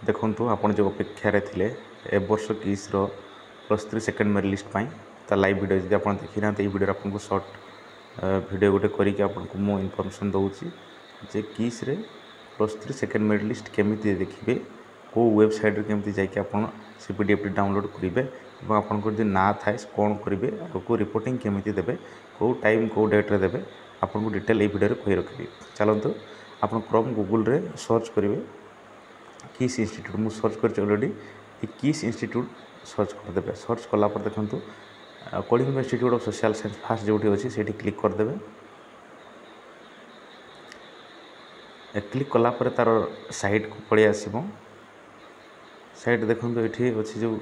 ଦେଖନ୍ତୁ, ଆପଣ ଯେଉଁ ଅପେକ୍ଷାରେ ଥିଲେ ଏ ବର୍ଷ କିସ୍ର +3 ସେକେଣ୍ଡ ମେରିଟ୍ ଲିଷ୍ଟ ପାଇଁ, ତା ଲାଇଭ୍ ଭିଡ଼ିଓ ଯଦି ଆପଣ ଦେଖିନାହାନ୍ତି, ଏଇ ଭିଡ଼ିଓରେ ଆପଣଙ୍କୁ ସର୍ଟ ଭିଡ଼ିଓ ଗୋଟେ କରିକି ଆପଣଙ୍କୁ ମୁଁ ଇନଫର୍ମେସନ୍ ଦେଉଛି ଯେ କିସ୍ରେ +3 ସେକେଣ୍ଡ ମେରିଟ୍ ଲିଷ୍ଟ କେମିତି ଦେଖିବେ, କେଉଁ ୱେବସାଇଟ୍ରେ କେମିତି ଯାଇକି ଆପଣ ସେ ପିଡିଏଫ୍ଟି ଡାଉନଲୋଡ଼୍ କରିବେ ଏବଂ ଆପଣଙ୍କର ଯଦି ନାଁ ଥାଏ କ'ଣ କରିବେ, ଆଗକୁ ରିପୋର୍ଟିଂ କେମିତି ଦେବେ, କେଉଁ ଟାଇମ୍ କେଉଁ ଡେଟ୍ରେ ଦେବେ, ଆପଣଙ୍କୁ ଡିଟେଲ୍ ଏଇ ଭିଡ଼ିଓରେ କହି ରଖିବି। ଚାଲନ୍ତୁ, ଆପଣ କ୍ରୋମ୍ ଗୁଗୁଲରେ ସର୍ଚ୍ଚ କରିବେ କିସ୍ ଇନଷ୍ଟିଟ୍ୟୁଟ୍। ମୁଁ ସର୍ଚ୍ଚ କରିଛି ଅଲରେଡ଼ି। ଏ କିସ୍ ଇନଷ୍ଟିଟ୍ୟୁଟ୍ ସର୍ଚ୍ଚ କରିଦେବେ। ସର୍ଚ୍ଚ କଲା ପରେ ଦେଖନ୍ତୁ, Kalinga institute of social science first ଯେଉଁଠି ଅଛି, ସେଇଠି କ୍ଲିକ୍ କରିଦେବେ। କ୍ଲିକ୍ କଲା ପରେ ତା'ର ସାଇଟ୍କୁ ପଳେଇ ଆସିବ। ସାଇଟ୍ ଦେଖନ୍ତୁ, ଏଠି ଅଛି ଯେଉଁ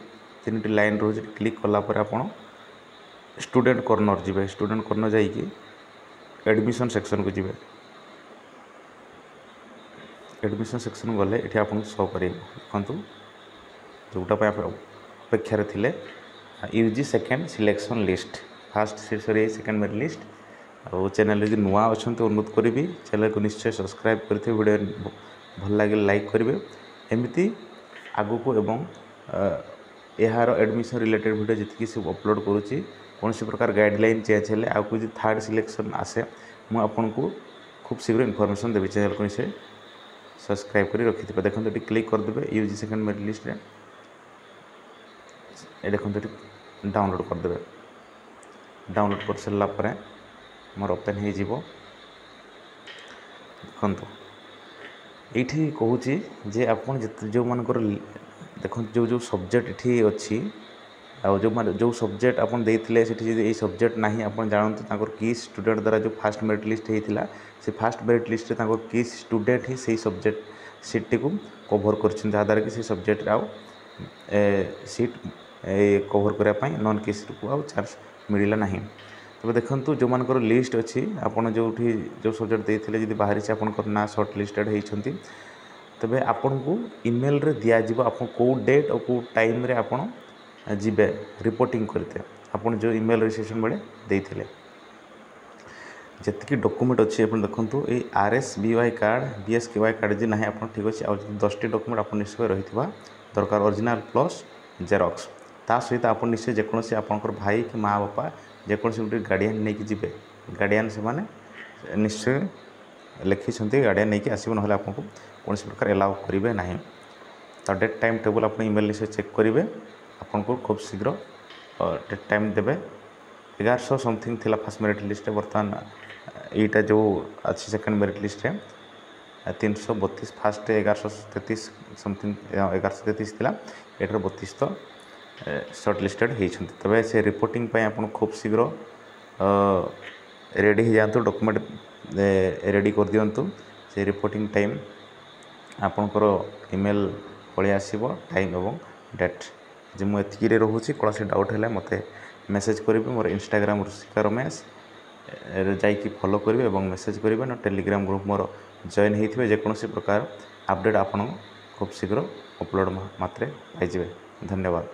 ତିନିଟି ଲାଇନ୍ ରହୁଛି। କ୍ଲିକ୍ କଲା ପରେ ଆପଣ ଷ୍ଟୁଡେଣ୍ଟ କର୍ଣ୍ଣର ଯିବେ। ଷ୍ଟୁଡେଣ୍ଟ କର୍ଣ୍ଣର ଯାଇକି ଆଡ଼ମିସନ୍ ସେକ୍ସନ୍କୁ ଯିବେ। ଆଡ଼ମିସନ୍ ସେକ୍ସନ୍ ଗଲେ ଏଠି ଆପଣଙ୍କୁ ଶୋ କରିବ। ଦେଖନ୍ତୁ, ଯେଉଁଟା ପାଇଁ ଆପଣ ଅପେକ୍ଷାରେ ଥିଲେ, UG second selection list. First ସରିଯାଇଛି, ସେକେଣ୍ଡ ମେରିଟ୍ ଲିଷ୍ଟ। ଆଉ ଚ୍ୟାନେଲ୍ ଯଦି ନୂଆ ଅଛନ୍ତି, ଅନୁରୋଧ କରିବି, ଚ୍ୟାନେଲ୍କୁ ନିଶ୍ଚୟ ସବସ୍କ୍ରାଇବ୍ କରିଥିବେ। ଭିଡ଼ିଓ ଭଲ ଲାଗିଲେ ଲାଇକ୍ କରିବେ। ଏମିତି ଆଗକୁ ଏବଂ ଏହାର ଆଡ଼ମିସନ୍ ରିଲେଟେଡ଼୍ ଭିଡ଼ିଓ ଯେତିକି ସବୁ ଅପଲୋଡ଼ କରୁଛି, କୌଣସି ପ୍ରକାର ଗାଇଡ଼ଲାଇନ୍ ଚେଞ୍ଜ ହେଲେ, ଆଗକୁ ଯଦି ଥାର୍ଡ଼ ସିଲେକ୍ସନ୍ ଆସେ, ମୁଁ ଆପଣଙ୍କୁ ଖୁବ୍ ଶୀଘ୍ର ଇନଫର୍ମେସନ୍ ଦେବି। ଚ୍ୟାନେଲ୍କୁ ନିଶ୍ଚୟ ସବସ୍କ୍ରାଇବ୍ କରି ରଖିଥିବେ। ଦେଖନ୍ତୁ, ଏଠି କ୍ଲିକ୍ କରିଦେବେ ୟୁଜି ସେକେଣ୍ଡ ମେରିଟ୍ ଲିଷ୍ଟରେ। ଏ ଦେଖନ୍ତୁ, ଏଠି ଡାଉନଲୋଡ଼୍ କରିଦେବେ। ଡାଉନଲୋଡ଼୍ କରିସାରିଲା ପରେ ମୋର ଓପେନ୍ ହେଇଯିବ। ଦେଖନ୍ତୁ, ଏଇଠି କହୁଛି ଯେ ଆପଣ ଯେତେ ଯେଉଁମାନଙ୍କର, ଦେଖନ୍ତୁ, ଯେଉଁ ଯେଉଁ ସବଜେକ୍ଟ ଏଠି ଅଛି ଆଉ ଯେଉଁମାନେ ଯେଉଁ ସବଜେକ୍ଟ ଆପଣ ଦେଇଥିଲେ, ସେଠି ଯଦି ଏଇ ସବଜେକ୍ଟ ନାହିଁ, ଆପଣ ଜାଣନ୍ତୁ ତାଙ୍କର କିସ୍ ଷ୍ଟୁଡେଣ୍ଟ ଦ୍ୱାରା ଯେଉଁ ଫାଷ୍ଟ ମେରିଟ୍ ଲିଷ୍ଟ ହେଇଥିଲା, ସେ ଫାଷ୍ଟ ମେରିଟ୍ ଲିଷ୍ଟରେ ତାଙ୍କର କିସ୍ ଷ୍ଟୁଡେଣ୍ଟ ହିଁ ସେଇ ସବଜେକ୍ଟ ସିଟ୍ଟିକୁ କଭର୍ କରିଛନ୍ତି, ଯାହାଦ୍ୱାରା କି ସେଇ ସବଜେକ୍ଟରେ ଆଉ ସିଟ୍ କଭର୍ କରିବା ପାଇଁ ନନ୍ କିସ୍କୁ ଆଉ ଚାନ୍ସ ମିଳିଲା ନାହିଁ। ତେବେ ଦେଖନ୍ତୁ, ଯେଉଁମାନଙ୍କର ଲିଷ୍ଟ ଅଛି, ଆପଣ ଯେଉଁଠି ଯେଉଁ ସବଜେକ୍ଟ ଦେଇଥିଲେ, ଯଦି ବାହାରିଛି ଆପଣଙ୍କର ନାଁ ସର୍ଟ ଲିଷ୍ଟେଡ଼ ହେଇଛନ୍ତି, ତେବେ ଆପଣଙ୍କୁ ଇମେଲରେ ଦିଆଯିବ ଆପଣ କେଉଁ ଡେଟ୍ ଆଉ କେଉଁ ଟାଇମ୍ରେ ଆପଣ ଯିବେ ରିପୋର୍ଟିଂ କରିତେ, ଆପଣ ଯେଉଁ ଇମେଲ୍ ରେଜିଷ୍ଟ୍ରେସନ୍ ବେଳେ ଦେଇଥିଲେ। ଯେତିକି ଡକୁମେଣ୍ଟ ଅଛି, ଆପଣ ଦେଖନ୍ତୁ, ଏଇ RSBY card, BSKY card ଯଦି ନାହିଁ ଆପଣ, ଠିକ୍ ଅଛି। ଆଉ 10ଟି ଡକୁମେଣ୍ଟ ଆପଣ ନିଶ୍ଚୟ ରହିଥିବା ଦରକାର, ଅରିଜିନାଲ୍ ପ୍ଲସ୍ ଜେରକ୍ସ। ତା ସହିତ ଆପଣ ନିଶ୍ଚୟ ଯେକୌଣସି ଆପଣଙ୍କର ଭାଇ କି ମା ବାପା, ଯେକୌଣସି ଗୋଟେ ଗାର୍ଡ଼ିଆନ୍ ନେଇକି ଯିବେ। ଗାର୍ଡ଼ିଆନ୍ ସେମାନେ ନିଶ୍ଚୟ ଲେଖିଛନ୍ତି, ଗାର୍ଡ଼ିଆନ୍ ନେଇକି ଆସିବ, ନହେଲେ ଆପଣଙ୍କୁ କୌଣସି ପ୍ରକାର ଏଲାଉ କରିବେ ନାହିଁ। ତ ଡେଟ୍ ଟାଇମ୍ ଟେବୁଲ୍ ଆପଣ ଇମେଲ୍ ନିଶ୍ଚୟ ଚେକ୍ କରିବେ। ଆପଣଙ୍କୁ ଖୁବ୍ ଶୀଘ୍ର ଡେଟ୍ ଟାଇମ୍ ଦେବେ। 1100 ସମଥିଙ୍ଗ ଥିଲା ଫାର୍ଷ୍ଟ ମେରିଟ୍ ଲିଷ୍ଟରେ, ବର୍ତ୍ତମାନ ଏଇଟା ଯେଉଁ ଅଛି ସେକେଣ୍ଡ ମେରିଟ୍ ଲିଷ୍ଟରେ 332। ଫାର୍ଷ୍ଟ 1133 ସମଥିଙ୍ଗ, 1133 ଥିଲା, ଏଠାର 32 ତ ସର୍ଟ ଲିଷ୍ଟେଡ଼ ହେଇଛନ୍ତି। ତେବେ ସେ ରିପୋର୍ଟିଂ ପାଇଁ ଆପଣ ଖୁବ୍ ଶୀଘ୍ର ରେଡ଼ି ହେଇଯାଆନ୍ତୁ, ଡକୁମେଣ୍ଟ ରେଡ଼ି କରିଦିଅନ୍ତୁ। ସେ ରିପୋର୍ଟିଂ ଟାଇମ୍ ଆପଣଙ୍କର ଇମେଲ୍ ପଳେଇ ଆସିବ, ଟାଇମ୍ ଏବଂ ଡେଟ୍। ଯେ ମୁଁ ଏତିକିରେ ରହୁଛି। କୌଣସି ଡାଉଟ୍ ହେଲେ ମୋତେ ମେସେଜ୍ କରିବେ। ମୋର ଇନଷ୍ଟାଗ୍ରାମ ଋଷିକା ରମେଶ ଯାଇକି ଫଲୋ କରିବେ ଏବଂ ମେସେଜ୍ କରିବେ ନା ଟେଲିଗ୍ରାମ ଗ୍ରୁପ୍ ମୋର ଜଏନ୍ ହେଇଥିବେ। ଯେକୌଣସି ପ୍ରକାର ଅପଡ଼େଟ୍ ଆପଣ ଖୁବ୍ ଶୀଘ୍ର ଅପଲୋଡ଼ ମାତ୍ରେ ପାଇଯିବେ। ଧନ୍ୟବାଦ।